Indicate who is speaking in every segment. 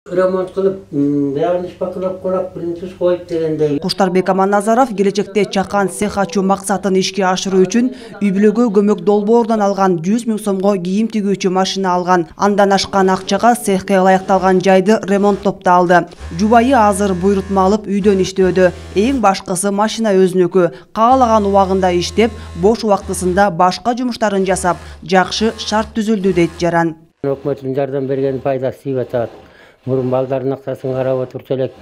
Speaker 1: Ремонт кылып, бягын ишпакылап коюп, принцип коюп дегендей.
Speaker 2: Куштарбек Аманназаров келечекте чакан цех ачуу максатын ишке ашыруу үчүн үй-бүлөгө көмөк долбоорунан алган 100 000 сомго кийим тигүүчү машина алган. Андан ашкан акчага цехке ылайыкталган жайды ремонттоп да алды. Жубайы азыр буйрутма алып үйдөн иштөөдө. Эң башкысы машина өзүнүкү. Каалаган убагында иштеп, бош убактысында башка жумуштарын жасап, жакшы шарт түзүлдү дейт Жаран.
Speaker 1: Өкмөттүн жардам берген пайдасы тийип атат. Мурун балдардын акчасын карап отурчу элек,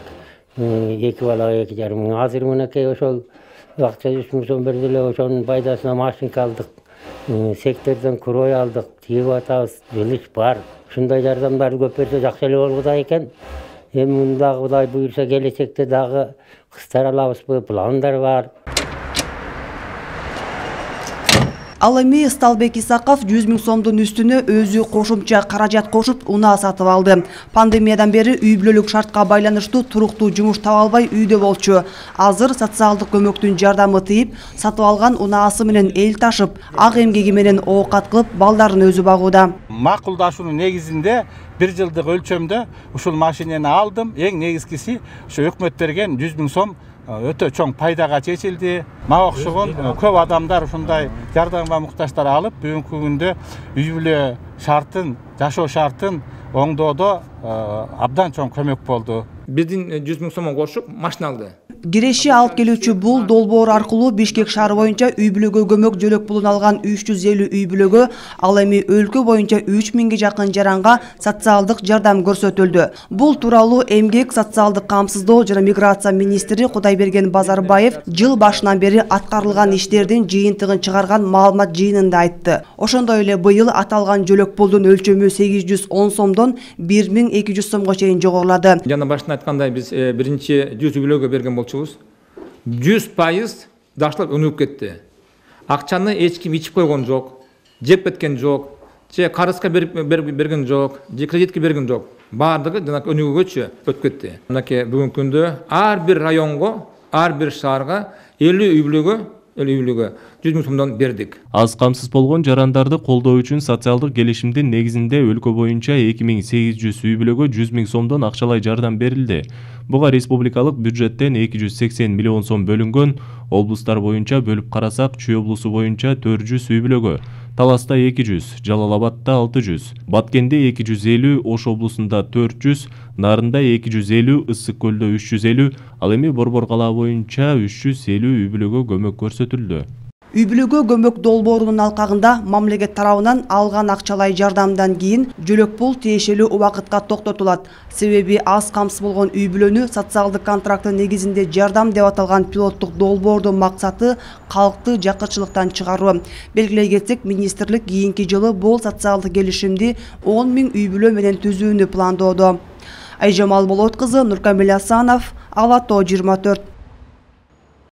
Speaker 1: 2 балага 2,5 мың. Азыр мынакей ошол акча 100 000 сом берди эле, ошонун пайдасына машинка алдык. Сектордон крой алдык, тийип атабыз, жылыш бар. Ушундай жардамдарды көп берсе жакшы эле болгуда экен. Эми мындагы Кудай буйрса келечекте дагы кыстар алабызбы, пландар бар.
Speaker 2: Ал эми Сталбек Исаков 100 000 сомдун үстүнө өзү кошумча каражат кошуп унаа сатып алды. Пандемиядан бери үй-бүлөлүк шартка байланыштуу туруктуу жумуш таба албай үйдө болчу. Азыр социалдык көмөктүн жардамы тийип, сатып алган унаасы менен эл ташып, ак эмгеги менен оокат кылып, балдарын өзү багууда.
Speaker 3: Макулдашуунун негизинде 1 жылдык өлчөмдө ушул машинени алдым. Эң негизгиси ушу өкмөт берген 100 000 сом өтө чоң пайдага чечилди. Мага окшогон көп адамдар ушундай жардамга муктаждар алып, бүгүнкү күндө үй-бүлө шартын, жашоо шартын оңдоодо абдан чоң көмөк болду.
Speaker 4: Биздин 100 000 сом кошуп машина алды.
Speaker 2: Киреши алып келүүчү бул долбоор аркылуу Бишкек шаары боюнча үй-бүлөгө көмөк жөлөк пулун алган 350 үй-бүлөгө, ал эми өлкө боюнча 3000ге жакын жаранга социалдык жардам көрсөтүлдү. Бул тууралуу Эмгек, социалдык камсыздоо жана миграция министри Кудайберген Базарбаев жыл башынан бери аткарылган иштердин жыйынтыгын чыгарган маалымат жыйынында айтты. Ошондой эле быйыл аталган жөлөк пулдун өлчөмү 810 сомдон 1200 сомго чейин жогорулады.
Speaker 4: Жана башында айткандай биз биринчи 100 үй-бүлөгө берген болчубуз. 100% дашлап өнүгүп кетти. Акчаны эч ким ичип койгон жок, жеп кеткен жок, же карызга берген жок, же кредитке берген жок. Бардыгы жана өнүгүүгөчү өтүп кетти. Мынакей бүгүнкү күндө ар бир районго, ар бир шаарга 50 үй-бүлөгө 100 000 сомдон бердик.
Speaker 5: Аз камсыз болгон жарандарды колдоо үчүн социалдык келишимдин негизинде өлкө боюнча 2800 үй-бүлөгө 100 000 сомдон акчалай жардам берилди. Буга республикалык бюджеттен 280 миллион сом бөлүнгөн. Облустар боюнча бөлүп карасак, Чүй облусу боюнча 400 үй-бүлөгө, Таласта 200, Жалал Абадта 600, Баткенде 250, Ош облусунда 400, Нарында 250, Ысык көлдө 350, ал эми Борбор калаа боюнча 350 үй-бүлөгө көмөк көрсөтүлдү.
Speaker 2: Үй-бүлөгө көмөк долбоорунун алкагында мамлекет тарабынан алган акчалай жардамдан кийин жөлөк пул тиешелүү убакытка токтотулат. Себеби аз камсыз болгон үй-бүлөнү социалдык контракттын негизинде жардам деп аталган пилоттук долбоордун максаты калкты жакырчылыктан чыгаруу. Белгилей кетсек, министрлик кийинки жылы бул социалдык келишимди 10 000 үй-бүлө менен түзүүнү пландоодо. Айжамал Болот кызы, Нуркамил Асанов, Ала Тоо 24.